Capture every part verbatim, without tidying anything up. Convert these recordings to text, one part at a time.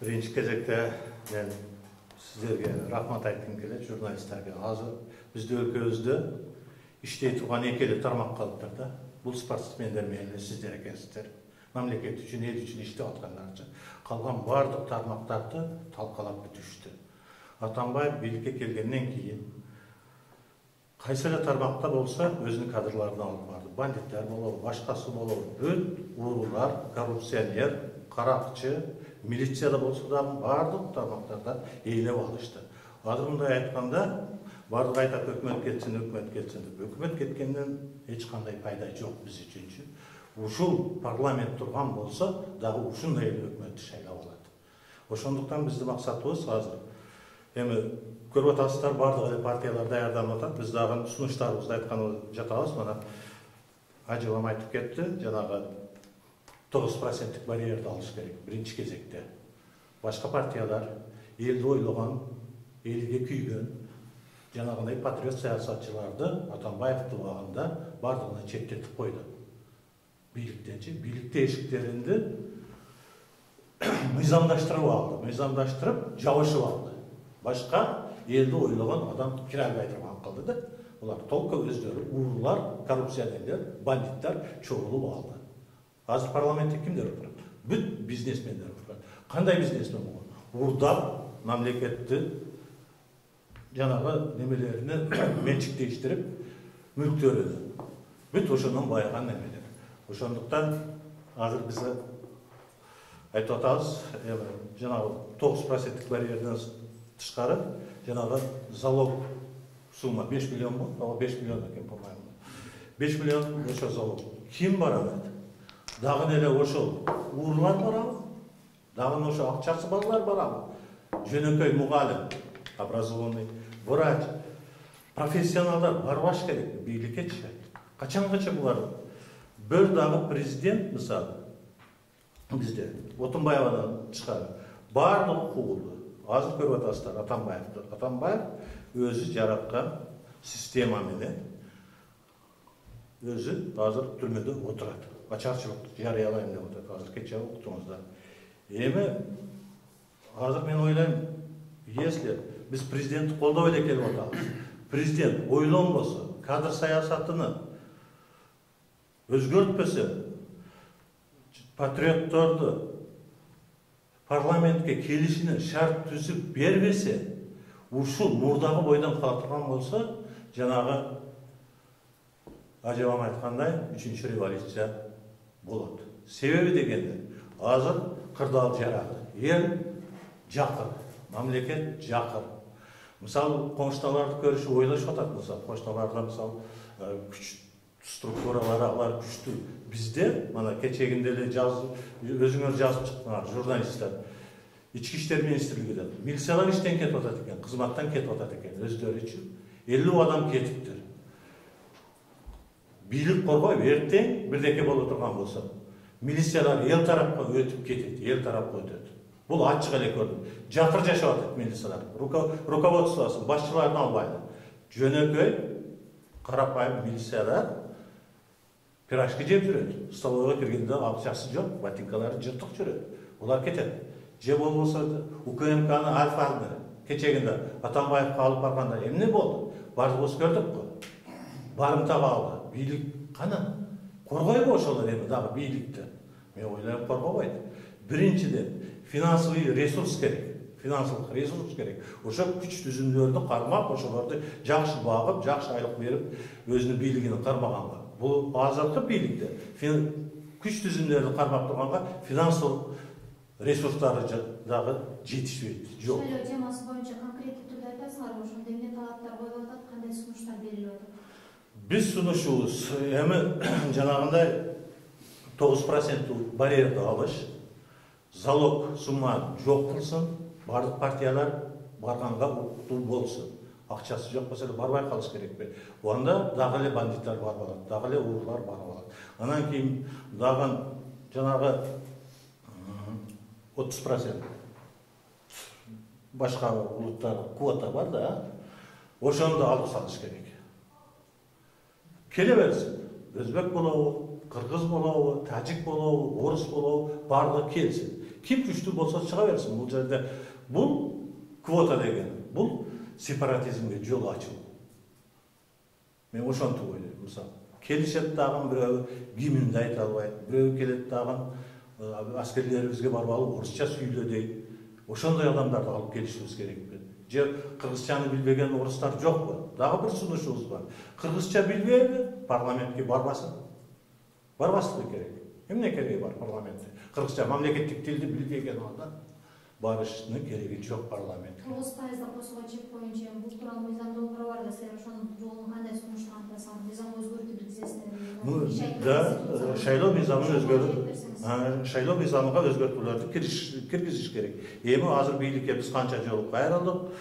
Birinci кезекте мен сиздерге рахмат айткым келет, журналисттерге. Азыр бизде өлкөбүздө иштей турган эки эле тармак калыптыр да. Бул спортсмендер менен сиздер экенсиздер. Мамлекет үчүн, эл үчүн иштеп аткандарчы. Калган бардык тармактарды талкалап бүтүштү. Атамбаев бийликке келгенден кийин кайсы эле тармакта болсо өзүнүн кадрларын алып барды. Бандиттер болобу, башкасы болобу, бүт уруулар, коррупционер, каракчы, милицияда болсо да бардык тармактарда ээлеп алышты. Азыр мындай айтканда бардык айтат өкмөт кетсин, өкмөт кетсин деп. Өкмөт кеткенден эч кандай пайда жок биз үчүнчү. Ушул парламент турган болсо дагы ушундай эле өкмөттү шайлап алат. Ошондуктан биздин максатыбыз азыр эми көрүп атасыздар, бардык эле партиялар даярданып атат. Биз дагы сунуштарыбызды айтканыбыз жатабыз. Мына Ажыбам айтып кетти, жанагы тогуз проценттик барьерди алыш керек биринчи кезекте. Башка партиялар элди ойлогон, элге күйгөн, жанагындай патриот саясатчыларды Атамбаевдин убагында бардыгына четтетип койду. Бийликтенчи, бийликте эшиктеринди мыйзамдаштырып алды, мыйзамдаштырып жабышып алды. Башка элди ойлогон адам кире албай турган кылды да. Булар толко өздөрү уруулар, коррупционерлер, бандиттер чогулуп алды. Азыр парламентте кимдер отурат? Бүт бизнесмендер отурат. Кандай бизнесмен болгон? Уурдап, мамлекетти жанагы немелерине менчиктештирип, мүлктөрүнү. Бүт ошондон байыган немелер. Ошондуктан азыр биз айтып атабыз, жанагы тогуз проценттик барьерден тышкары, жанагы залог сумма беш миллион болду, ал беш миллион экен, по-моему. беш миллион ошо залог. Ким барат? Дагы эле ошол уруулар барабы? Дагы ошо акчасы балдар барабы? Жөнөкөй мугалим, образованный, врач, профессионалдар барбаш керек бийликкечи. Качангача булар? Бир дагы президент, мисалы, бизде Отунбаевадан тышкары бардыгы куулду. Азыр көрүп атасыздар Атамбаевди. Атамбаев өзү жараткан система менен өзү азыр түрмөдө отурат. Ачарчылыкты жарыялайм деп атат. Азыр кечээ уктуңуздар. Эми азыр мен ойлойм, если биз президентти колдой эле келип атабыз, президент ойлонбосо, кадр саясатыны өзгөртпөсө, патриотторду парламентке келишине шарт түзүп бербесе, ушул мурдагы бойдон кала турган болсо, жанагы Ажыбам айткандай үчүнчү революция болот. Себеби дегенде, азыр кырдаал жарады. Эл жакыр, мамлекет жакыр. Мисалы, коңшталарды көрүшүп ойлошуп атат болсо, коңшталарда мисалы күч структуралары алар күчтүү. Бизде мына кечегинде эле жазып, өзүңөр жазып чыктыңар, журналисттер. Ички иштер министрлигинен милициялар иштен кетип атат экен, кызматтан кетип атат экен, өздөрү үчүн. элүү адам кетиптир. Бийлик коргойбу, эртең бирдеке боло турган болсо, милициялар эл тарапка өтүп кетет, эл тарапка өтөт. Бул ачык эле көрдүм. Жатыр жашап атат милициялар. Руководствосун, башчыларын албайды. Жөнөкөй карапайым милициялар пирожки жеп жүрөт. Столовойго киргенде акчасы жок, ботинкалары жыртык жүрөт. Булар кетет. Же болбосо УКМКны Альфаны кечегинде Атамбаевге алып барганда эмне болду? Бардыгыбыз көрдүк го. Барымтага алды. Бийлик кана? Коргойбу ошолор эми дагы бийликти? Мен ойлойм, коргобойт. Биринчиден, финансовый ресурс керек. Финансылык ресурс керек. Ошо күч түзүмдөрдү кармап, ошолорду жакшы багып, жакшы айлык берип, өзүнүн бийлигин кармаганга. Бул азыркы бийликте күч түзүмдөрдү кармап турганга финансылык ресурстары дагы жетишпейт. Жок. Шайлоо темасы боюнча конкреттүү түрдө айтасыңарбы? Ошондо эмне талаптар коюлуп атат, кандай сунуштар берилип атат? Биз сунушубуз эми жанагындай тогуз проценттүү барьерди алыш, залог сумма жок кылсын, бардык партиялар барганга укуктуу болсун. Акчасы жок болсо барбай калыш керекпи? Онда дагы эле бандиттер барып алат, дагы эле уруулар барып алат. Анан кийин дагы жанагы отуз процент башка улуттар квота бар да, ошондо алып салыш керек. Келе берсин. Өзбек болобу, кыргыз болобу, тажик болобу, орус болобу, бардыгы келсин. ким күчтүү болсо чыга берсин. Бул жерде бул квота деген, бул сепаратизмге жол ачуу. Мен ошентип ойлойм. Мисалы, келишет дагы бирөө гимнди айта албайт, бирөө келет дагы аскерлерибизге барып алып орусча сүйлө дейт. Ошондой адамдарды алып келишибиз керек. Же кыргызчаны билбеген орустар жокпу? Дагы бир сунушубуз бар. Кыргызча билбейби? Парламентке барбасын. Барбаслыгы керек. Эмне кереги бар парламентте? Кыргызча мамлекеттик тилди билбеген адам барыштын кереги жок парламентке. тогуз пайызды косууга чек боюнча бул тууралуу мыйзам долбоору бар да, силер ошонун жолун кандай сунуштантасыңар? Мыйзам өзгөртүп киргизесиздерби? Да, шайлоо мыйзамын өзгөртүп, шайлоо мыйзамына өзгөртүүлөрдү киргизиш керек. Эми азыр бийликке биз канча жолу кайрылдык,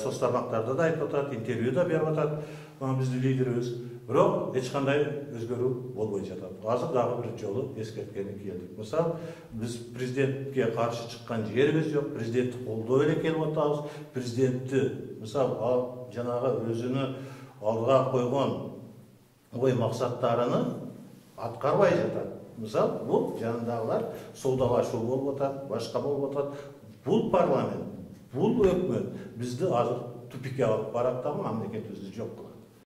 соц тармактарда да айтып атат, интервьюда берип атат биздин лидерибиз. Бирок эч кандай өзгөрүү болбой жатат. Азыр дагы бир жолу эскерткени келдик. Мисалы, биз президентке каршы чыккан жерибиз жок, президентти колдоп эле келип атабыз. Президентти, мисалы, жанагы өзүнүн алдыга койгон ой максаттарыны аткарбай жатат. Мисалы, бул жанындагылар соодалашуу болуп атат, башка болуп атат. Бул парламент, бул өкмөт бизди азыр тупикке алып барат да мамлекетибизди жок кылат.